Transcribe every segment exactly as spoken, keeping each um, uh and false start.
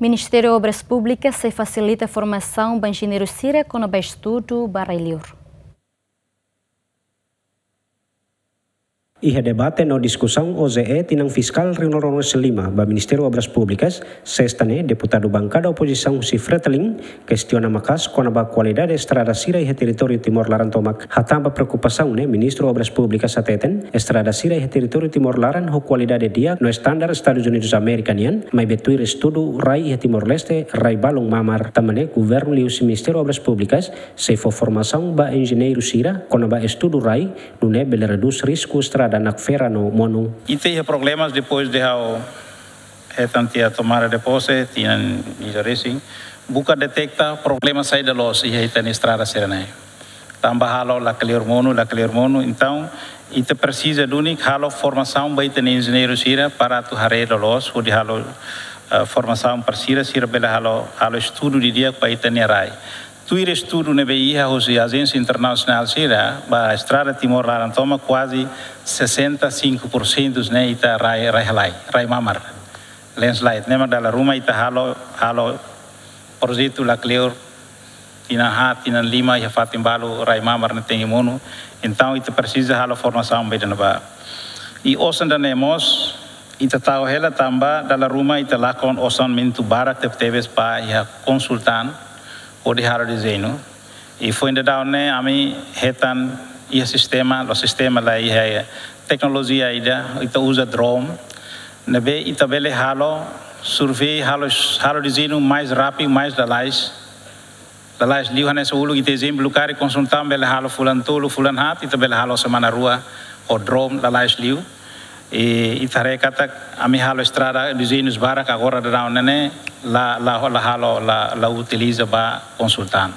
Ministériu Obras Públikas sei fasilita formasaun ba enjeñeiru sira kona-ba estudu ba rai-li'ur. Iha debate no diskusaun OJE tinan fiskál rihun rua ruanulu-resin-lima ba Ministériu Obras Públikas, sesta ne'e, deputadu bankada opozisaun husi Fretilin kestiona maka'as kona-ba kualidade estrada sira iha territóriu Timor laran tomak. Hatán ba preokupasaun ne'e, Ministru Obras Públikas hateten, estrada sira iha territóriu Timor laran ho kualidade di'ak no estandar Estadus Unidus Amérika nian, maibé tuir estudu rai iha Timor-Leste, rai balun mamar. Tanba ne'e, governu liuhusi Ministériu Obras Públikas sei fó formasaun ba enjeñeiru sira kona-ba estudu rai, nune'e bele redús risku estrada nakfera no monu. Ita iha problemas depois de ha'u hetan tiha tomada de pose, tinan ida resin, buka deteta problema saida loos iha ita-nia estrada sira-ne'e. Tanba halo lakleur monu, lakleur monu, entaun ita presiza duni halo formasaun ba ita-nia enjeñeiru sira para atu haree loloos, hodi halo, eh, formasaun para sira, sira bele halo, halo estudu didi'ak ba ita-nia rai. Tuir estudu ne'ebé iha husi ajénsia internasionál sira, ba estrada Timor laran tomak kuaze sessenta e cinco por cento ne'e ita rai, rai halai, rai mamar. Landslide, ne'e mak dala ruma ita halo, halo projetu lakleur, tinan haat, tinan lima, iha fatin balu rai mamar ne'e tenke monu. Entaun ita presiza halo formasaun ba ida-ne'ebá. I osan ida-ne'e mós, ita tau hela tanba dala ruma ita lakon orsamentu barak tebetebes ba iha konsultan hodi halo dezeñu. I foin daudaun ne'e ami hetan iha sistema, la'ós sistema, la iha teknolojia ida, ita uza drone, ne'ebé ita bele halo survei, halo, halo dezeñu mais rápidu, mais lalais. Lalais liu hanesan uluk ita ezemplu karik konsultan bele halo fulan tolu, fulan haat, ita bele halo semana rua ho drone lalais liu. I ita haree katak ami halo estrada dezeñus barak agora daudaun ne'e la, la, la halo, la, la utiliza ba konsultan.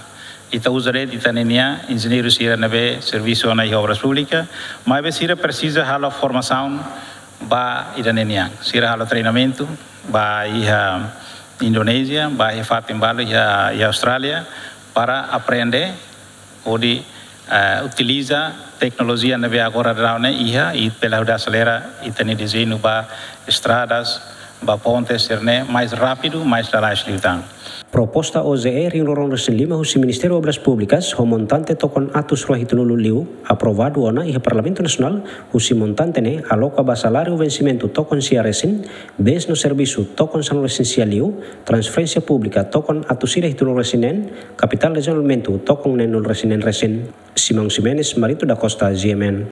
Ita uza de'it ita-nia enjeñeiru sira ne'ebé servisu ona iha Obras Públikas, maibé sira presiza halo formasaun ba ida-ne'e nian. Sira halo treinamentu ba iha Indonézia, ba iha fatin balu iha, iha Austrália, para aprende hodi, eh, utiliza teknolojia ne'ebé agora daudaun ne'e iha, i bele ajuda aselera ita-nia dezeñu ba estradas, ba pontes sira-ne'e mais rápidu, mais lalais liután. Proposta OJE rihun rua ruanulu-resin-lima husi Ministériu Obras Públikas ho montante tokon atus rua hitunulu liu, aprovadu ona iha Parlamentu Nasionál, husi montante ne'e aloka ba saláriu vensimentu tokon sia resin, bens no servisu tokon sanulu-resin-sia liu, transferénsia públika tokon atus ida hitunulu-resin-neen, kapitál dezenvolvimentu tokon neenulu-resin-neen resin. Simão Ximenes, Marito da Costa, G M N.